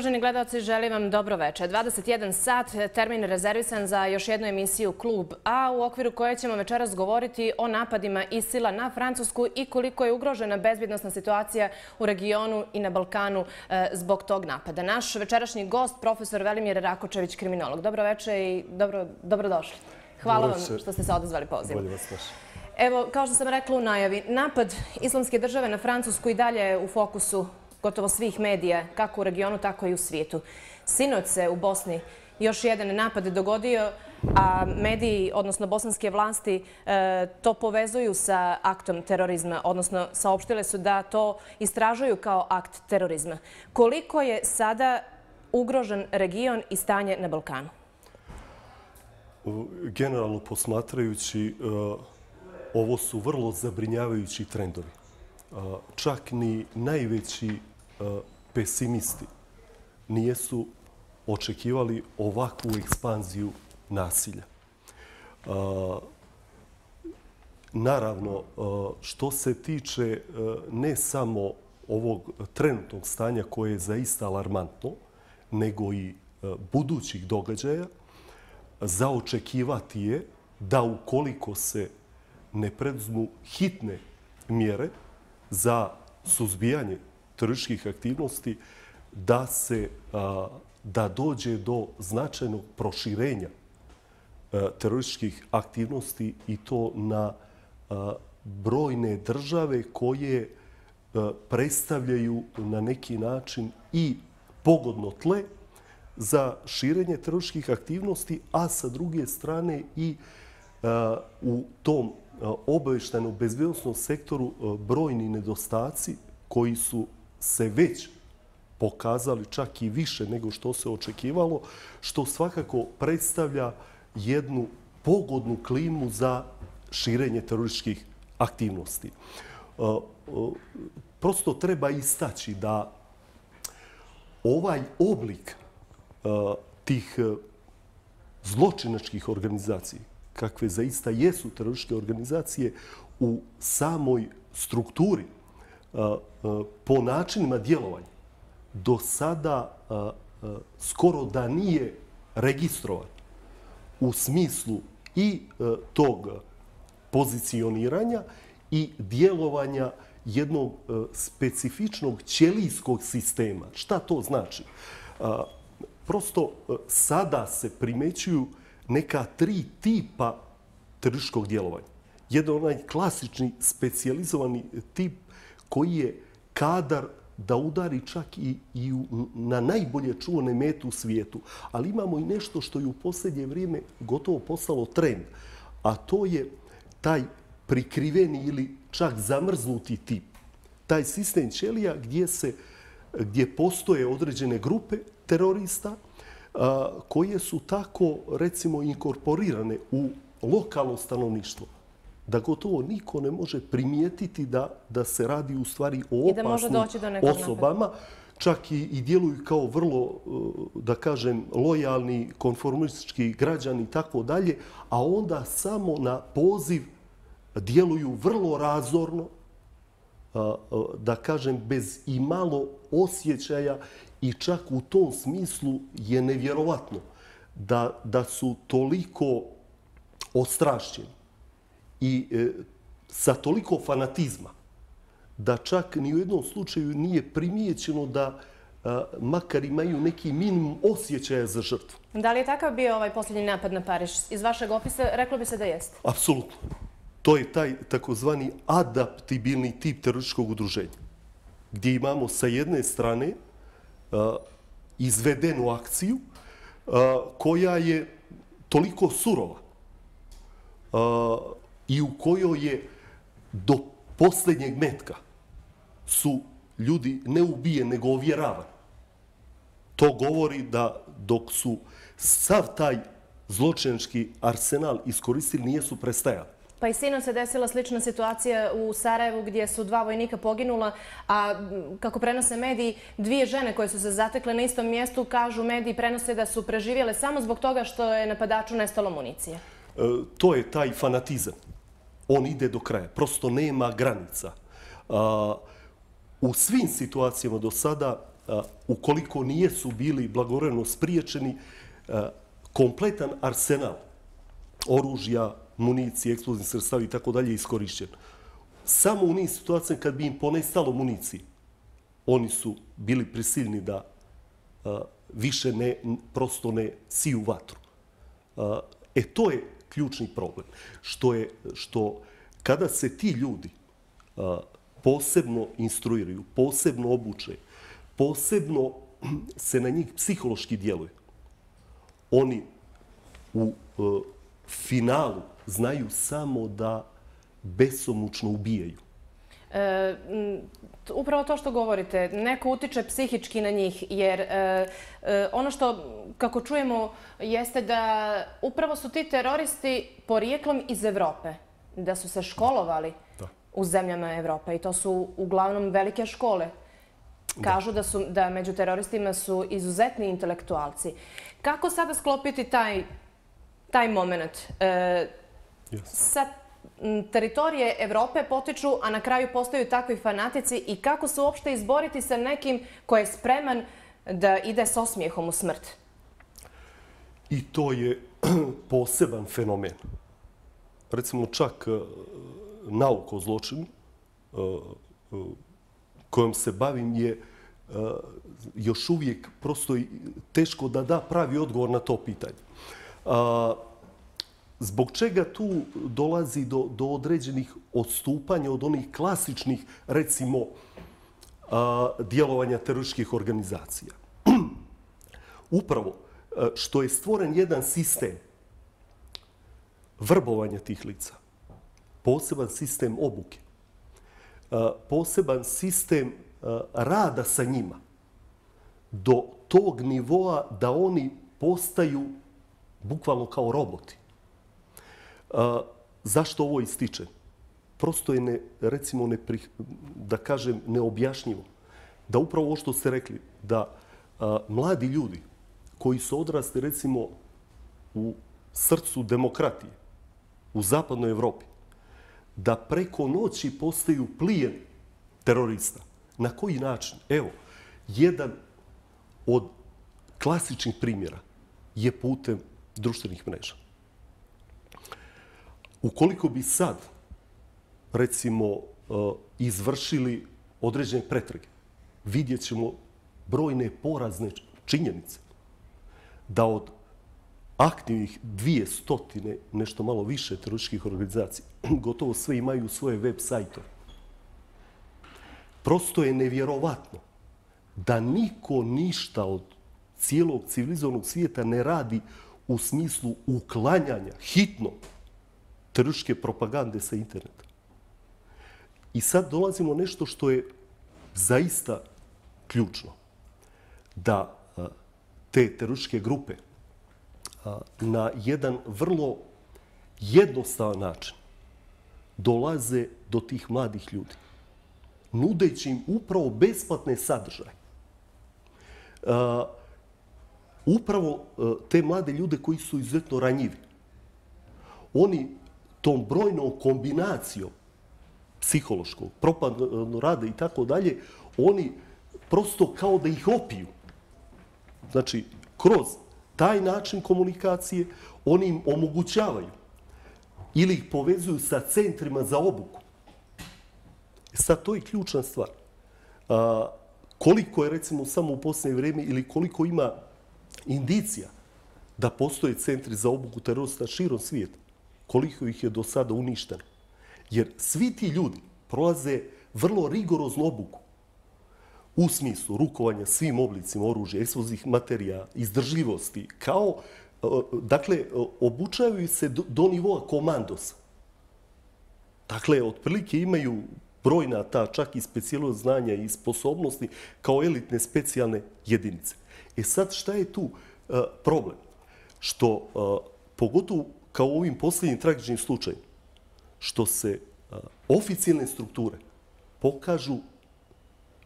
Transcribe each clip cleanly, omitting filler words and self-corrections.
Uvaženi gledalci, želim vam dobro večer. 21 sat, termin rezervisan za još jednu emisiju Klub A, u okviru koje ćemo večeras govoriti o napadima ISIL-a na Francusku i koliko je ugrožena bezbjednosna situacija u regionu i na Balkanu zbog tog napada. Naš večerašnji gost, profesor Velimir Rakočević, kriminolog. Dobro večer i dobrodošli. Hvala vam što ste se odazvali pozivu. Evo, kao što sam rekla u najavi, napad Islamske države na Francusku i dalje je u fokusu gotovo svih medija, kako u regionu, tako i u svijetu. Sinoć se u Bosni još jedan napad dogodio, a mediji, odnosno bosanske vlasti, to povezuju sa aktom terorizma, odnosno saopštile su da to istražuju kao akt terorizma. Koliko je sada ugrožen region i stanje na Balkanu? Generalno posmatrajući, ovo su vrlo zabrinjavajući trendovi. Čak ni najveći pesimisti nijesu očekivali ovakvu ekspanziju nasilja. Naravno, što se tiče ne samo ovog trenutnog stanja koje je zaista alarmantno, nego i budućih događaja, za očekivati je da ukoliko se ne preduzmu hitne mjere za suzbijanje terorističkih aktivnosti, da dođe do značajnog proširenja terorističkih aktivnosti i to na brojne države koje predstavljaju na neki način i pogodno tle za širenje terorističkih aktivnosti, a sa druge strane i u tom obavještajnom bezbjednosnom sektoru brojni nedostaci koji su se već pokazali čak i više nego što se očekivalo, što svakako predstavlja jednu pogodnu klimu za širenje terorističkih aktivnosti. Prosto treba istaći da ovaj oblik tih zločinačkih organizacija, kakve zaista jesu terorističke organizacije, u samoj strukturi, po načinima djelovanja, do sada skoro da nije registrovan u smislu i tog pozicioniranja i djelovanja jednog specifičnog ćelijskog sistema. Šta to znači? Prosto sada se primećuju neka tri tipa terorističkog djelovanja. Jedan onaj klasični specijalizovani tip koji je kadar da udari čak i na najbolje čuvane mete u svijetu. Ali imamo i nešto što je u posljednje vrijeme gotovo postalo trend, a to je taj prikriveni ili čak zamrznuti tip. Taj sistem ćelija gdje postoje određene grupe terorista koje su tako, recimo, inkorporirane u lokalno stanovništvo, da gotovo niko ne može primijetiti da se radi u stvari o opasnim osobama, čak i djeluju kao vrlo, da kažem, lojalni, konformistički građani i tako dalje, a onda samo na poziv djeluju vrlo razorno, da kažem, bez i malo osjećaja, i čak u tom smislu je nevjerovatno da su toliko ostrašćeni i sa toliko fanatizma da čak ni u jednom slučaju nije primijećeno da makar imaju neki minimum osjećaja za žrtvu. Da li je takav bio ovaj posljednji napad na Pariz? Iz vašeg opisa reklo bi se da jeste. Apsolutno. To je taj takozvani adaptibilni tip terorističkog udruženja, gdje imamo sa jedne strane izvedenu akciju koja je toliko surova i u kojoj je do posljednjeg metka su ljudi ne ubijeni, nego ovjeravani. To govori da dok su sav taj zločinački arsenal iskoristili, nijesu prestajali. Pa i sinoć se desila slična situacija u Sarajevu gdje su 2 vojnika poginula, a kako prenose mediji, 2 žene koje su se zatekle na istom mjestu, kažu mediji, prenose da su preživjele samo zbog toga što je napadaču nestalo municije. To je taj fanatizam. On ide do kraja. Prosto nema granica. U svim situacijama do sada ukoliko nijesu bili blagovremeno spriječeni, kompletan arsenal oružja, municije, eksplozivnih sredstava i tako dalje iskorišćen. Samo u niz situacija kad bi im ponestalo municije, oni su bili prisiljeni da više prosto ne siju vatru. To je ključni problem. Što kada se ti ljudi posebno instruiraju, posebno obuče, posebno se na njih psihološki djeluje, oni u finalu znaju samo da besomučno ubijaju. Upravo to što govorite, neko utiče psihički na njih, jer ono što, kako čujemo, jeste da upravo su ti teroristi porijeklom iz Evrope, da su se školovali u zemljama Evrope i to su uglavnom velike škole. Kažu da među teroristima su izuzetni intelektualci. Kako sada sklopiti taj moment? Sa teritorije Evrope potiču, a na kraju postaju takvi fanatici i kako se uopšte izboriti sa nekim ko je spreman da ide s osmijehom u smrt? I to je poseban fenomen. Recimo čak nauka o zločinu kojom se bavim je još uvijek prosto teško da da pravi odgovor na to pitanje. Zbog čega tu dolazi do određenih odstupanja od onih klasičnih, recimo, djelovanja terorističkih organizacija? Upravo što je stvoren jedan sistem vrbovanja tih lica, poseban sistem obuke, poseban sistem rada sa njima do tog nivoa da oni postaju bukvalno kao roboti. Zašto ovo ističem? Prosto je, recimo, da kažem, neobjašnjivo. Da upravo ovo što ste rekli, da mladi ljudi koji su odrasli, recimo, u srcu demokratije, u zapadnoj Evropi, da preko noći postaju plijen terorista. Na koji način? Evo, jedan od klasičnih primjera je putem društvenih mreža. Ukoliko bi sad, recimo, izvršili određene pretrage, vidjet ćemo brojne porazne činjenice da od aktivnih 200, nešto malo više terorističkih organizacija, gotovo sve imaju svoje web sajtove. Prosto je nevjerovatno da niko ništa od cijelog civilizovanog svijeta ne radi u smislu uklanjanja hitno terorističke propagande sa interneta. I sad dolazimo nešto što je zaista ključno. Da te terorističke grupe na jedan vrlo jednostavan način dolaze do tih mladih ljudi, nudeći im upravo besplatne sadržaje. Upravo te mlade ljude koji su izuzetno ranjivi. Oni tom brojnom kombinacijom psihološkog, propagandnog rada i tako dalje, oni prosto kao da ih opiju. Znači, kroz taj način komunikacije oni im omogućavaju ili ih povezuju sa centrima za obuku. Sad, to je ključna stvar. Koliko je, recimo, samo u posljednje vrijeme ili koliko ima indicija da postoje centri za obuku terorista širom svijeta, koliko ih je do sada uništeno. Jer svi ti ljudi prolaze vrlo rigoroznu obuku u smislu rukovanja svim oblicima oružja, eksplozivnih materija, izdržljivosti, dakle, obučavaju se do nivoa komandosa. Dakle, otprilike imaju brojna ta čak i specijalna znanja i sposobnosti kao elitne specijalne jedinice. Sad, šta je tu problem? Što, pogotovo kao u ovim posljednjim tragičnim slučajima, što se oficijalne strukture pokažu,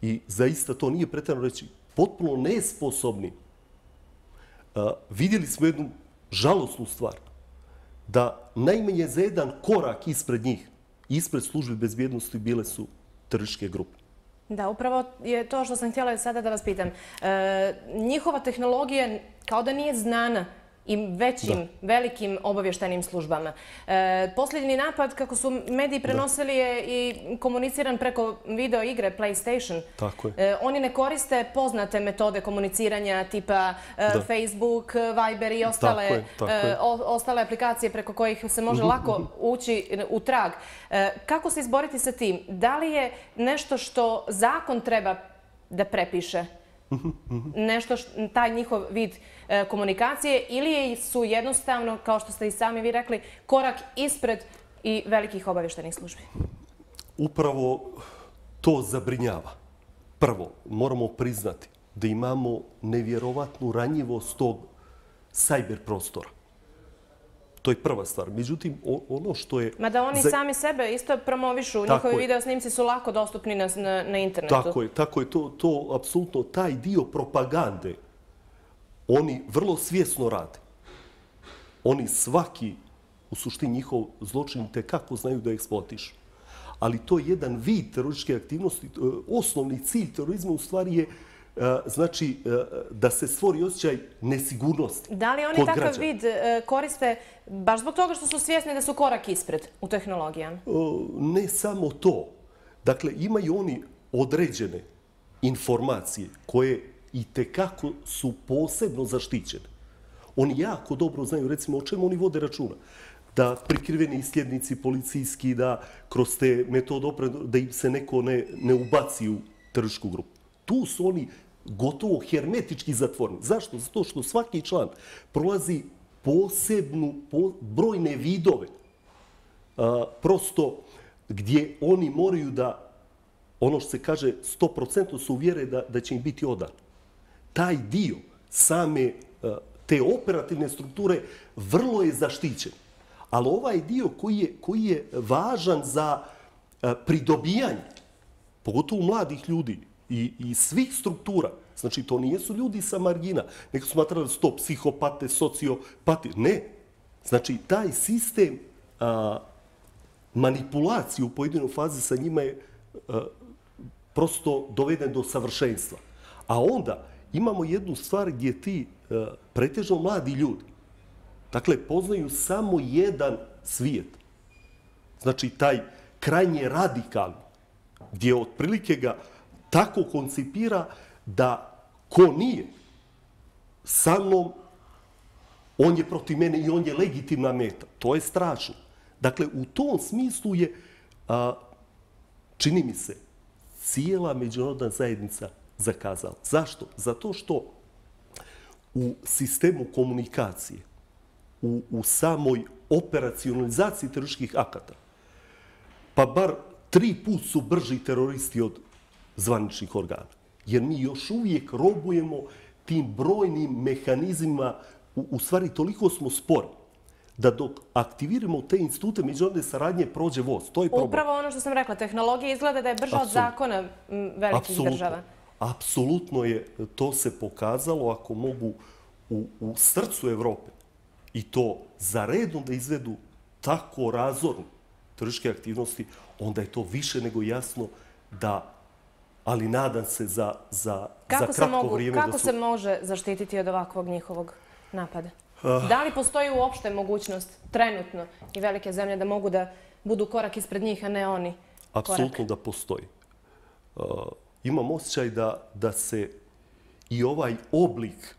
i zaista to nije pretjerano reći, potpuno nesposobni. Vidjeli smo jednu žalosnu stvar, da najmanje za jedan korak ispred njih, ispred službe bezbjednosti, bile su terorističke grupe. Da, upravo je to što sam htjela sada da vas pitam. Njihova tehnologija kao da nije znana i većim, velikim obavještajnim službama. Posljednji napad, kako su mediji prenosili, je i komuniciran preko video igre PlayStation. Tako je. Oni ne koriste poznate metode komuniciranja tipa Facebook, Viber i ostale aplikacije preko kojih se može lako ući u trag. Kako se izboriti sa tim? Da li je nešto što zakon treba da prepiše? Nešto, taj njihov vid komunikacije, ili su jednostavno, kao što ste i sami vi rekli, korak ispred i velikih obavještajnih službi? Upravo to zabrinjava. Prvo, moramo priznati da imamo nevjerovatnu ranjivost tog sajber prostora. To je prva stvar. Međutim, ono što je... Mada oni sami sebe isto promovišu. Njihovi video snimci su lako dostupni na internetu. Tako je. To apsolutno, taj dio propagande, oni vrlo svjesno rade. Oni svaki, u suštini njihov zločin, tekako znaju da eksploatišu. Ali to je jedan vid terorističke aktivnosti. Osnovni cilj terorizma u stvari je znači da se stvori osjećaj nesigurnosti kod građana. Da li oni takav vid koriste baš zbog toga što su svjesni da su korak ispred u tehnologijama? Ne samo to. Dakle, imaju oni određene informacije koje i tekako su posebno zaštićene. Oni jako dobro znaju, recimo, o čemu oni vode računa. Da prikriveni isljednici policijski, da kroz te metode opreme, da im se neko ne ubaci u terorističku grupu. Tu su oni gotovo hermetički zatvoreni. Zašto? Zato što svaki član prolazi brojne vidove, prosto gdje oni moraju da, ono što se kaže, 100% su uvjere da će im biti odan. Taj dio same te operativne strukture vrlo je zaštićen. Ali ovaj dio koji je važan za pridobijanje, pogotovo mladih ljudi i svih struktura, znači to nijesu ljudi sa margina, neko smatrali su to psihopate, sociopate, ne. Znači taj sistem manipulacije u pojedinoj fazi sa njima je prosto doveden do savršenstva. A onda imamo jednu stvar gdje ti pretežno mladi ljudi, dakle, poznaju samo jedan svijet. Znači, taj krajnje radikalni, gdje otprilike ga tako koncipira da ko nije sa mnom, on je protiv mene i on je legitimna meta. To je strašno. Dakle, u tom smislu je, čini mi se, cijela međunarodna zajednica zakazala. Zašto? Zato što u sistemu komunikacije, u samoj operacionalizaciji terorističkih akata, pa bar 3 puta su brži teroristi od zvaničnih organa. Jer mi još uvijek robujemo tim brojnim mehanizmima, u stvari toliko smo spori, da dok aktiviramo te institute međunarodne saradnje prođe voz. To je problem. Upravo ono što sam rekla, tehnologija izgleda da je brža od zakona velikih država. Apsolutno je, to se pokazalo, ako mogu u srcu Evrope i to za redom da izvedu tako razorne terorističke aktivnosti, onda je to više nego jasno da, ali nadam se za kratko vrijeme... Kako se može zaštititi od ovakvog njihovog napada? Da li postoji uopšte mogućnost trenutno i velike zemlje da mogu da budu korak ispred njih, a ne oni korak? Apsolutno da postoji. Imam osjećaj da se i ovaj oblik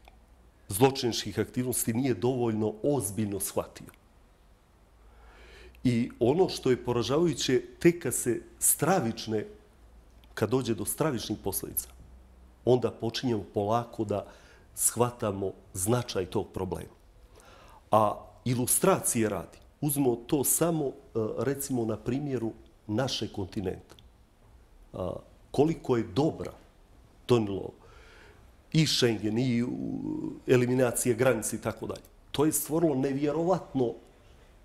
zločiničkih aktivnosti nije dovoljno ozbiljno shvatio. I ono što je poražavajuće, tek kad dođe do stravičnih posljedica, onda počinjemo polako da shvatamo značaj tog problema. A ilustracije radi. Uzmemo to samo, recimo, na primjeru našeg kontinenta. Koliko je dobra donijelo i Schengen, i eliminacije granice i tako dalje. To je stvorilo nevjerovatno,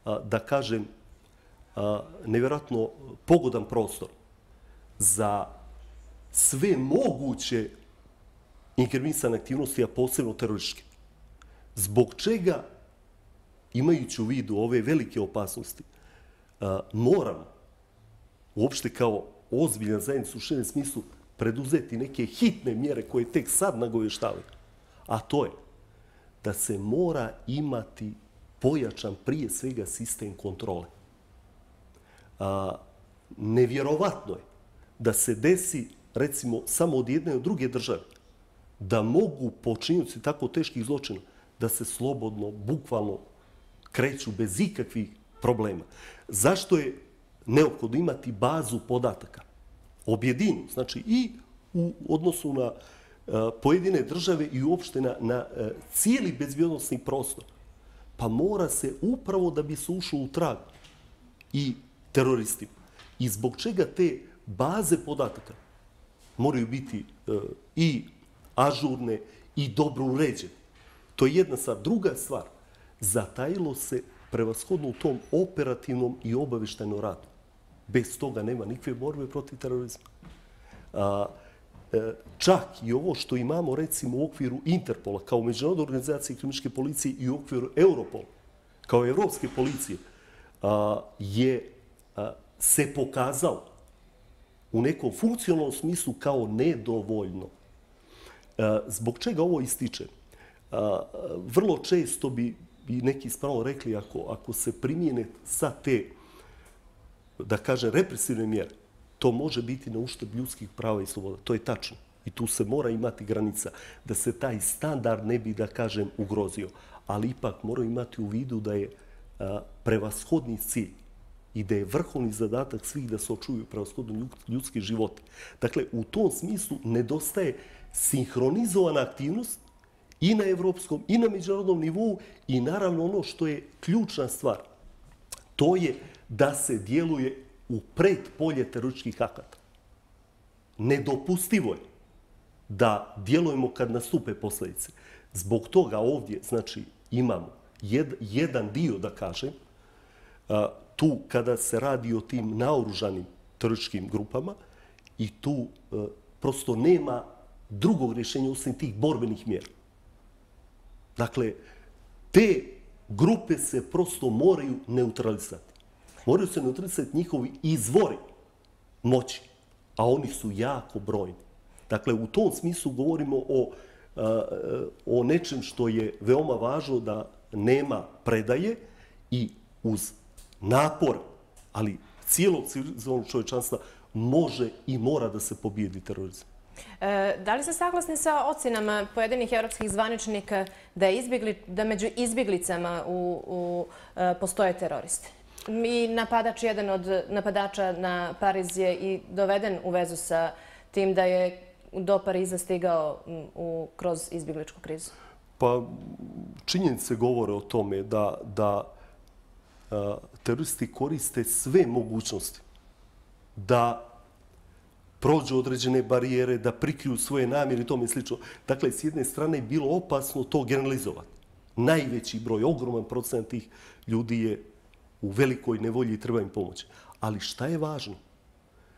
da kažem, nevjerovatno pogodan prostor za sve moguće inkriminalisane aktivnosti, a posebno terorističke. Zbog čega, imajući u vidu ove velike opasnosti, moramo uopšte kao ozbiljan zajednica u širem smislu preduzeti neke hitne mjere koje tek sad nagovještavaju. A to je da se mora imati pojačan prije svega sistem kontrole. Nevjerovatno je da se desi, recimo, samo od jedne od druge države, da mogu počinioci tako teških zločina da se slobodno, bukvalno kreću bez ikakvih problema. Zašto je neophodno imati bazu podataka? Objedinu, znači i u odnosu na pojedine države i uopšte na cijeli bezbjednosni prostor. Pa mora se upravo da bi se ušlo u trag i teroristima. I zbog čega te baze podataka moraju biti i ažurne i dobro uređene. To je jedna stvar. Druga stvar, zatajilo se prevashodno u tom operativnom i obavještajnom radu. Bez toga nema nikakve borbe protiv terorizma. Čak i ovo što imamo, recimo, u okviru Interpola, kao međunarodne organizacije kriminalističke policije i u okviru Europola, kao evropske policije, se pokazalo u nekom funkcionalnom smislu kao nedovoljno. Zbog čega ovo ističe? Vrlo često bi neki spravo rekli, ako se primijene sa te, da kažem, represivne mjere, to može biti na uštrb ljudskih prava i sloboda. To je tačno. I tu se mora imati granica da se taj standard ne bi, da kažem, ugrozio. Ali ipak moraju imati u vidu da je prevashodni cilj i da je vrhovni zadatak svih da se očuvaju prevashodno ljudski životi. Dakle, u tom smislu nedostaje sinhronizovana aktivnost i na evropskom i na međunarodnom nivou i naravno ono što je ključna stvar, to je da se djeluje u predpolje terorističkih akata. Nedopustivo je da djelujemo kad nastupe posljedice. Zbog toga ovdje, znači, imamo jedan dio, da kažem, tu kada se radi o tim naoružanim terorističkim grupama i tu prosto nema drugog rješenja osim tih borbenih mjera. Dakle, te grupe se prosto moraju neutralisati. Moraju se neutralisati njihovi izvori moći, a oni su jako brojni. Dakle, u tom smislu govorimo o nečem što je veoma važno, da nema predaje i uz napor, ali cijelog civilizovanog čovječanstva može i mora da se pobijedi terorizam. Da li ste saglasni sa ocjenama pojedinih evropskih zvaničnika da među izbjeglicama postoje teroristi? I napadač, jedan od napadača na Pariz je i doveden u vezu sa tim da je do Pariza stigao kroz izbjegličku krizu. Pa činjenice govore o tome da teroristi koriste sve mogućnosti da prođu određene barijere, da prikriju svoje namjere i tome slično. Dakle, s jedne strane je bilo opasno to generalizovati. Najveći broj, ogroman procent tih ljudi je u velikoj nevolji i treba im pomoći. Ali šta je važno?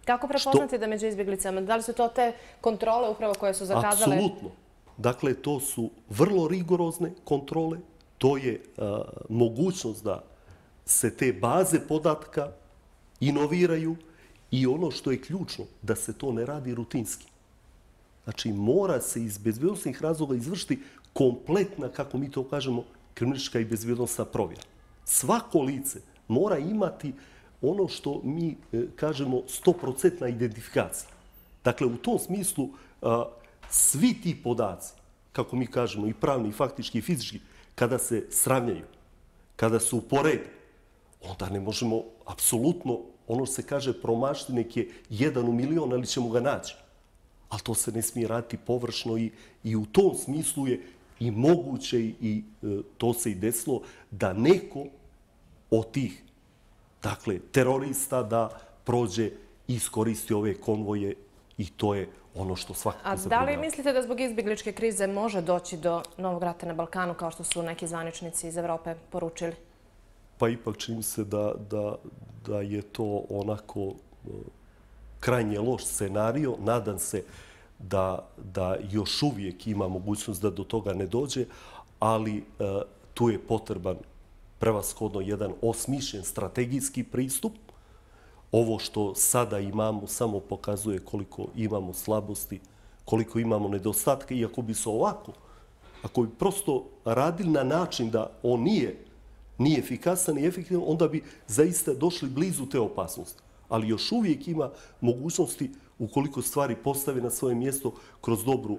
Kako prepoznati da među izbjeglicama? Da li su to te kontrole upravo koje su zakazale? Apsolutno. Dakle, to su vrlo rigorozne kontrole. To je mogućnost da se te baze podatka inoviraju i ono što je ključno, da se to ne radi rutinski. Znači, mora se iz bezbjednosnih razloga izvršiti kompletna, kako mi to kažemo, kriminalistička i bezbjednosna provjera. Svako lice mora imati ono što mi kažemo 100% identifikacija. Dakle, u tom smislu svi ti podaci, kako mi kažemo, i pravni, i faktički, i fizički, kada se sravnjaju, kada su uporede, onda ne možemo apsolutno, ono što se kaže, promašiti neke 1 u milion, ali ćemo ga naći. Ali to se ne smije raditi površno i u tom smislu je i moguće i to se i desilo da neko od tih, dakle, terorista da prođe i iskoristi ove konvoje i to je ono što svakako zabrinjava. A da li mislite da zbog izbjegličke krize može doći do novog rata na Balkanu, kao što su neki zvaničnici iz Evrope poručili? Pa ipak čini se da je to onako krajnje loš scenario. Nadam se da još uvijek ima mogućnost da do toga ne dođe, ali tu je potreban prevashodno jedan osmišljen strategijski pristup ovo što sada imamo samo pokazuje koliko imamo slabosti, koliko imamo nedostatke. I ako bi se ovako, ako bi prosto radili na način da on nije efikasan i efektivan, onda bi zaista došli blizu te opasnosti. Ali još uvijek ima mogućnosti, ukoliko stvari postave na svoje mjesto kroz dobru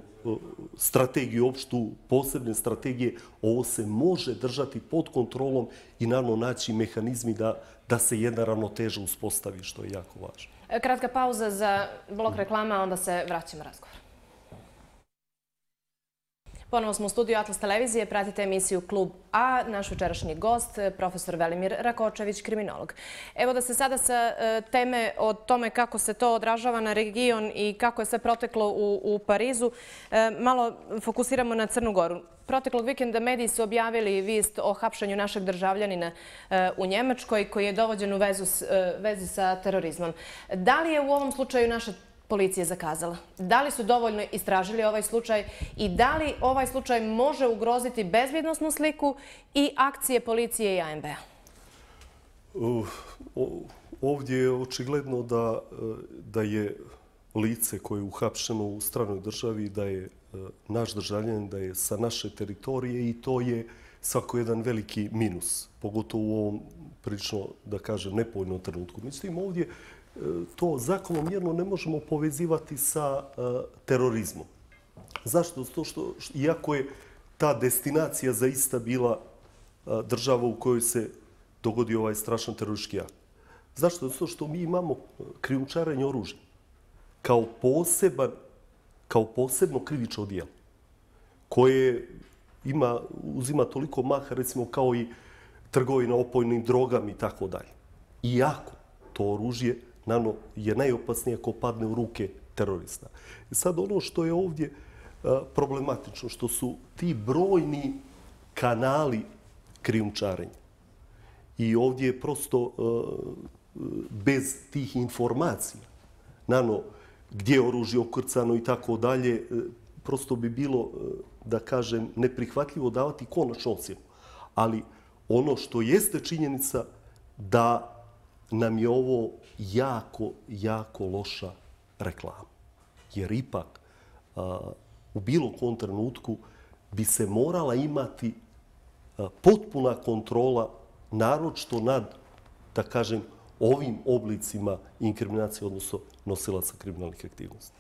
strategiju, opštu, posebne strategije, ovo se može držati pod kontrolom i naravno naći mehanizmi da se jedna ravnoteža uspostavi, što je jako važno. Kratka pauza za blok reklama, onda se vraćamo razgovor. Ponovo smo u studiju Atlas televizije, pratite emisiju Klub A, naš večerašnji gost, profesor Velimir Rakočević, kriminolog. Evo da se sada sa teme o tome kako se to odražava na region i kako je sve proteklo u Parizu, malo fokusiramo na Crnu Goru. Proteklog vikenda mediji su objavili vijest o hapšenju našeg državljanina u Njemačkoj koji je dovođen u vezi sa terorizmom. Da li je u ovom slučaju naša policija zakazala? Da li su dovoljno istražili ovaj slučaj i da li ovaj slučaj može ugroziti bezbjednosnu sliku i akcije policije i ANB-a? Ovdje je očigledno da je lice koje je uhapšeno u stranoj državi, da je naš državljanin, da je sa naše teritorije i to je svako jedan veliki minus, pogotovo u ovom prilično, da kažem, nepovoljnom trenutku. Mislim, ovdje to zakonomjerno ne možemo povezivati sa terorizmom. Zašto? Zato što, iako je ta destinacija zaista bila država u kojoj se dogodio ovaj strašan teroristički akt. Zašto? Zato što mi imamo krijumčarenje oružja kao posebno krivično djelo koje uzima toliko maha, recimo, kao i trgovina opojnim drogama i tako dalje. Iako to oružje naravno je najopasnije ako padne u ruke terorista. Sad ono što je ovdje problematično, što su ti brojni kanali krijumčarenja. I ovdje je prosto bez tih informacija, naravno gdje je oružje okrcano i tako dalje, prosto bi bilo, da kažem, neprihvatljivo davati konačnu ocjenu. Ali ono što jeste činjenica da nam je ovo jako loša reklama. Jer ipak u bilo kom trenutku bi se morala imati potpuna kontrola, naročito nad, da kažem, ovim oblicima inkriminacije, odnosno nosilaca kriminalnih aktivnosti.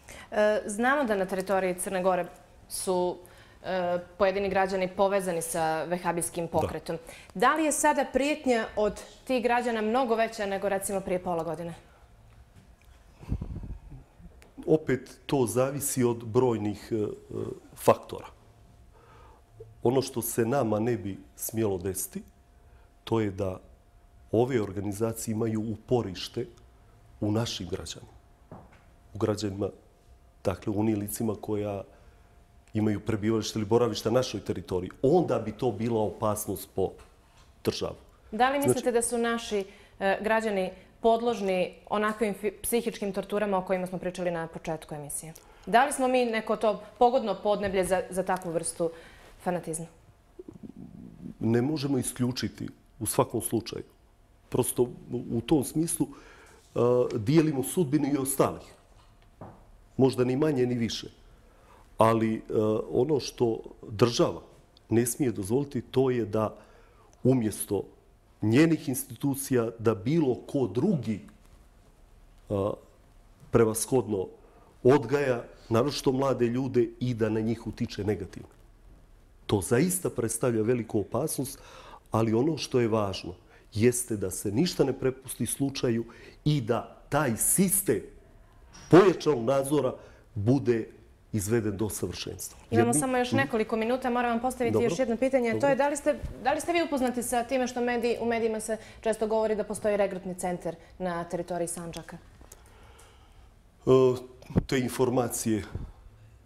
Znamo da na teritoriji Crne Gore su pojedini građani povezani sa vehabijskim pokretom. Da li je sada prijetnja od tih građana mnogo veća nego recimo prije pola godine? Opet to zavisi od brojnih faktora. Ono što se nama ne bi smjelo desiti, to je da ove organizacije imaju uporište u našim građanima. U građanima, dakle, u onim licima koja imaju prebivalište ili boravište na našoj teritoriji. Onda bi to bila opasnost po državu. Da li mislite da su naši građani podložni onakvim psihičkim torturama o kojima smo pričali na početku emisije? Da li smo mi neko to pogodno podneblje za takvu vrstu fanatizma? Ne možemo isključiti u svakom slučaju. Prosto u tom smislu dijelimo sudbinu i ostalih. Možda ni manje ni više. Ali ono što država ne smije dozvoliti, to je da umjesto njenih institucija da bilo ko drugi prevashodno odgaja, naročito mlade ljude, i da na njih utiče negativno. To zaista predstavlja veliku opasnost, ali ono što je važno jeste da se ništa ne prepusti slučaju i da taj sistem pojačanog nadzora bude izveden do savršenstva. Imamo samo još nekoliko minuta. Moram vam postaviti još jedno pitanje. To je da li ste vi upoznati sa time što u medijima se često govori da postoji regrutni centar na teritoriji Sandžaka? Te informacije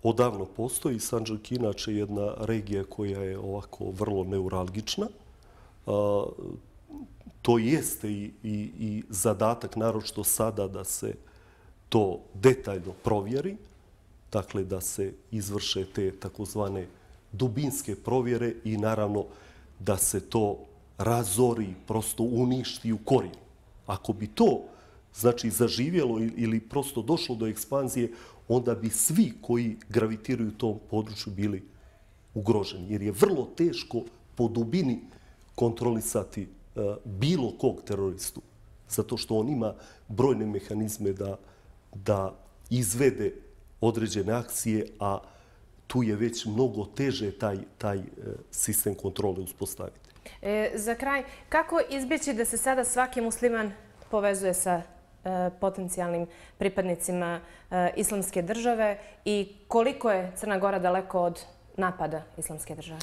odavno postoji. Sandžak je inače jedna regija koja je ovako vrlo neuralgična. To jeste i zadatak, naročito sada, da se to detaljno provjeri. Dakle, da se izvrše te takozvane dubinske provjere i naravno da se to razori, prosto uništi u korijenu. Ako bi to znači zaživjelo ili prosto došlo do ekspanzije, onda bi svi koji gravitiraju u tom području bili ugroženi. Jer je vrlo teško po dubini kontrolisati bilo kog teroristu. Zato što on ima brojne mehanizme da izvede određene akcije, a tu je već mnogo teže taj sistem kontrole uspostaviti. Za kraj, kako izbjeći da se sada svaki musliman povezuje sa potencijalnim pripadnicima Islamske države i koliko je Crna Gora daleko od napada Islamske države?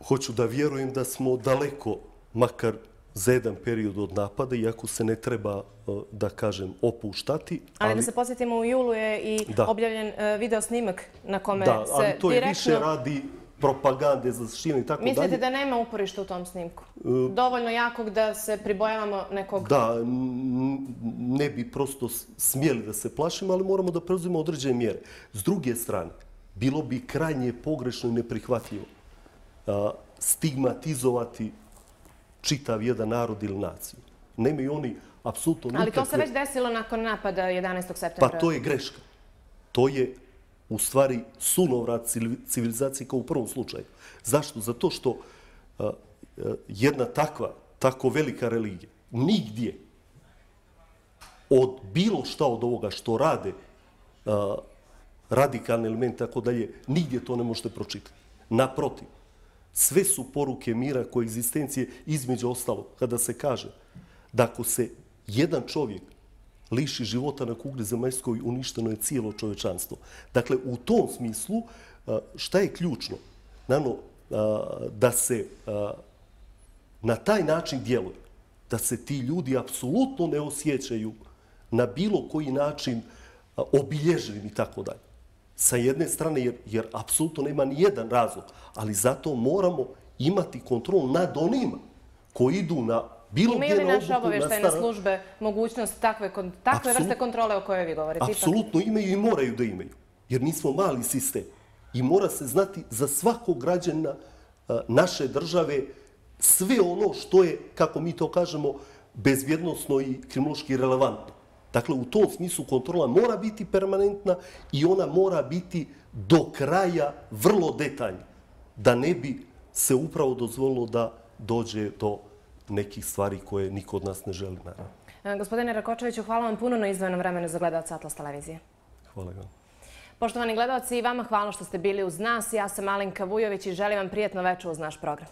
Hoću da vjerujem da smo daleko, makar za jedan period od napada, iako se ne treba, da kažem, opuštati. Ali da se podsjetimo, u julu je i objavljen video snimak na kome se direktno... Da, ali to je više radi propagande za širenje i tako dalje. Mislite da nema uporišta u tom snimku? Dovoljno jakog da se pribojavamo nekog... Da, ne bi prosto smjeli da se plašimo, ali moramo da preuzimo određene mjere. S druge strane, bilo bi krajnje pogrešno i neprihvatljivo stigmatizovati čitav jedan narod ili naciju. Nemaju oni apsolutno nikakve... Ali to se već desilo nakon napada 11. septembra. Pa to je greška. To je u stvari sunovrat civilizacije kao u prvom slučaju. Zašto? Zato što jedna tako velika religija nigdje od bilo šta od ovoga što rade radikalni element, tako dalje, nigdje to ne možete pročitati. Naprotiv, sve su poruke mira, koegzistencije, između ostalog, kada se kaže da ako se jedan čovjek liši života na kugli zemaljskoj, uništeno je cijelo čovječanstvo. Dakle, u tom smislu, šta je ključno? Naravno, da se na taj način djeluje, da se ti ljudi apsolutno ne osjećaju na bilo koji način obilježeni i tako dalje. Sa jedne strane, jer apsolutno nema ni jedan razlog, ali zato moramo imati kontrol nad onima koji idu na bilo gdje na obuku. Imaju li naše obavještajne službe mogućnost takve vrste kontrole o kojoj vi govorite? Apsolutno imaju i moraju da imaju, jer nismo mali sistem. I mora se znati za svakog građana naše države sve ono što je, kako mi to kažemo, bezbjednosno i kriminološki relevantno. Dakle, u tom smislu kontrola mora biti permanentna i ona mora biti do kraja vrlo detaljna, da ne bi se upravo dozvolilo da dođe do nekih stvari koje niko od nas ne želi, naravno. Gospodine Rakočeviću, hvala vam puno na izdvojenom vremenu za gledalce Atlas televizije. Hvala vam. Poštovani gledalci, i vama hvala što ste bili uz nas. Ja sam Alenka Vujović i želim vam prijetno večer uz naš program.